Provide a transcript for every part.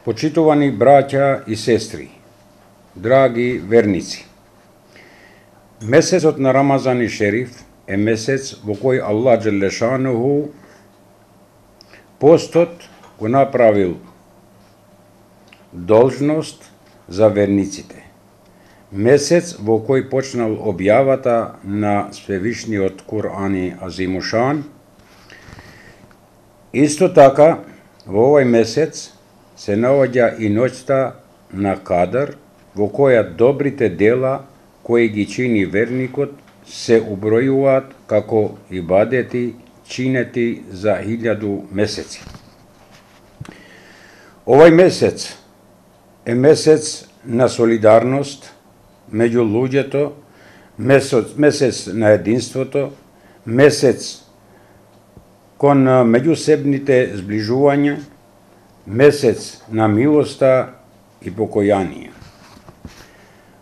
Почитувани браќа и сестри, драги верници, месецот на Рамазан и Шериф е месец во кој Аллах Джелешануху постот го направил должност за верниците. Месец во кој почнал објавата на Свевишниот Кур'ан Азимушан. Исто така, во овој месец се наоѓа и ноќта на Кадр, во која добрите дела кои ги чини верникот се убројуваат како ибадети чинети за 1000 месеци. Овој месец е месец на солидарност меѓу луѓето, месец на единството, месец кон меѓусебните зближувања, месец на милоста и покојание.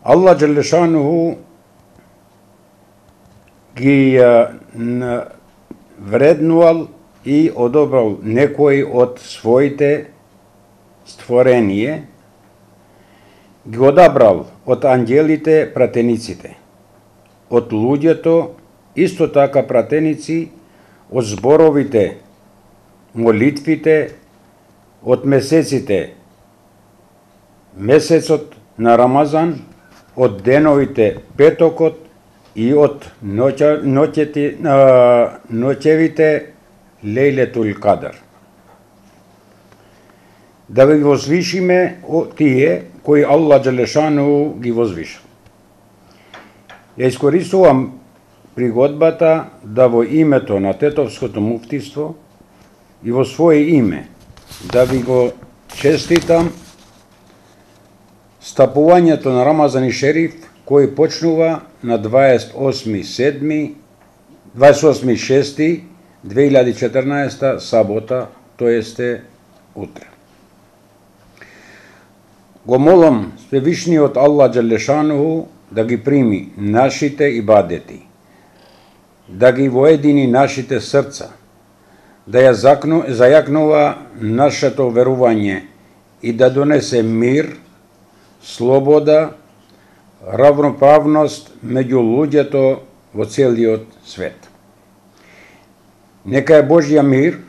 Аллах Джелешануху ги вреднувал и одобрал некои од своите створение, ги одабрал од ангелите пратениците, од луѓето исто така пратеници, од зборовите, молитвите, од месеците, месецот на Рамазан, од деновите петокот и од ноќевите Лейлетул Кадр. Да ви возвишиме тие кои Аллах Джелешану ги возвишал. Ја искористувам пригодбата да во името на Тетовското муфтиство и во своје име да ви го честитам стапувањето на Рамазан и Шериф, кој почнува на 28.6.2014 сабота, тоесте утре. Го молам Свевишниот Аллах Джелешануху да ги прими нашите ибадети, да ги воедини нашите срца, да ја зајакнува нашето верување и да донесе мир, слобода, равноправност меѓу луѓето во целиот свет. Нека е Божја мир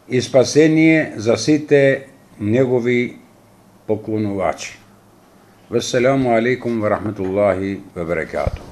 и спасение за сите негови поклонувачи. Вассаламу алейкум ва рахметуллахи ва баракатух.